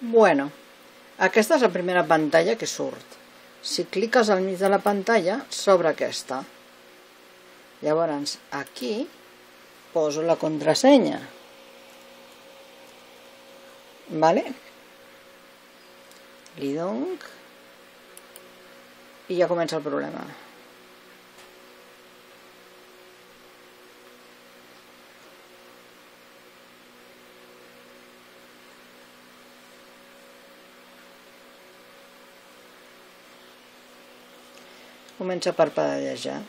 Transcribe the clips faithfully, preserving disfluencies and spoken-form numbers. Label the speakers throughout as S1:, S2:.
S1: Bueno, aquesta és la primera pantalla que surt. Si cliques al mig de la pantalla, s'obre aquesta. Llavors, aquí poso la contrasenya. Vale? Li dono i ja comença el problema. Comença a parpadejar.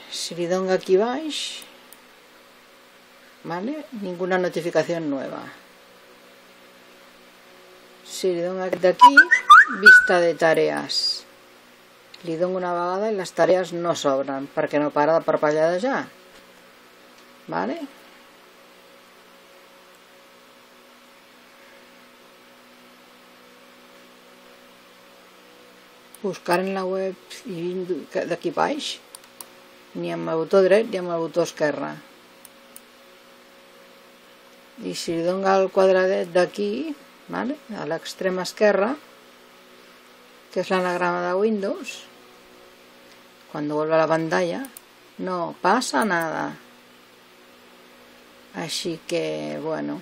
S1: Si li dono aquí baix, ¿vale? Ninguna notificación nueva. Si li dono aquí, vista de tareas. Li dono una vegada i les tarees no s'obren perquè no para de parpadejar. ¿Vale? Buscar en la web i d'aquí baix, ni amb el botó dret ni amb el botó esquerre. I si li dono el quadradet d'aquí, ¿vale? A l'extrema esquerra, que és l'anagrama de Windows, cuando vuelva a la pantalla, no pasa nada. Així que, bueno,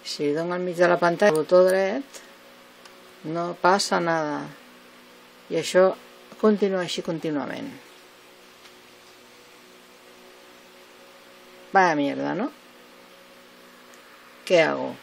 S1: si li dono al mig de la pantalla el botó dret, no passa nada. I això continua així contínuament. Vaya mierda, ¿no? ¿Qué hago?